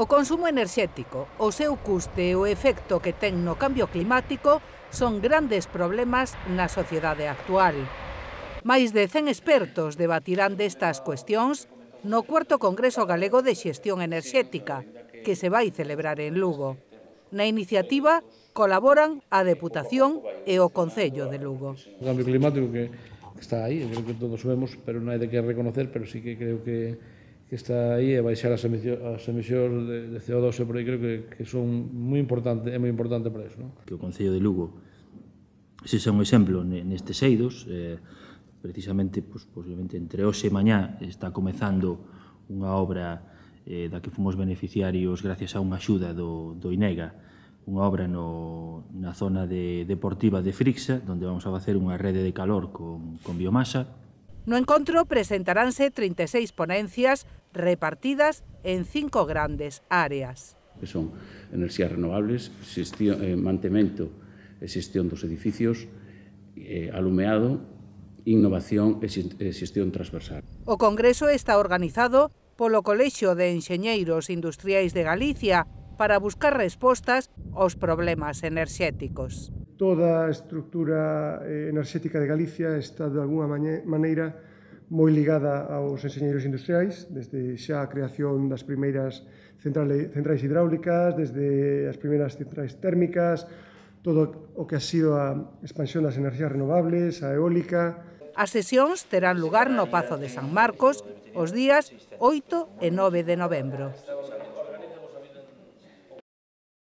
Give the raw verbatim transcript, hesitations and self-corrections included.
O consumo enerxético, o seu custe e o efecto que ten no cambio climático son grandes problemas na sociedade actual. Máis de cen expertos debatirán destas cuestións no cuarto Congreso Galego de Xestión Enerxética, que se vai celebrar en Lugo. Na iniciativa colaboran a Deputación e o Concello de Lugo. O cambio climático que está aí, creo que todos vemos, pero non hai de que reconocer, pero sí que creo que que está aí e baixar as emisións de C O dos e por aí creo que, que son moi importante, é moi importante para iso. Non? Que o Concello de Lugo se xa un exemplo nestes eidos, eh, precisamente, pues, posiblemente entre hoxe e mañá está comezando unha obra eh, da que fomos beneficiarios gracias a unha axuda do, do INEGA, unha obra no, na zona de, deportiva de Frixa, onde vamos a facer unha rede de calor con, con biomasa. No encontro presentaránse trinta e seis ponencias repartidas en cinco grandes áreas. Que son enerxías renovables, xestión, eh, mantemento e xestión dos edificios, eh, alumeado, innovación e xestión transversal. O Congreso está organizado polo Colexio de Enxeñeiros Industriais de Galicia para buscar respostas aos problemas enerxéticos. Toda a estructura enerxética de Galicia está de alguna maneira moi ligada aos enxeñeiros industriais, desde xa a creación das primeiras centrais hidráulicas, desde as primeiras centrais térmicas, todo o que ha sido a expansión das enerxías renovables, a eólica. As sesións terán lugar no Pazo de San Marcos os días oito e nove de novembro.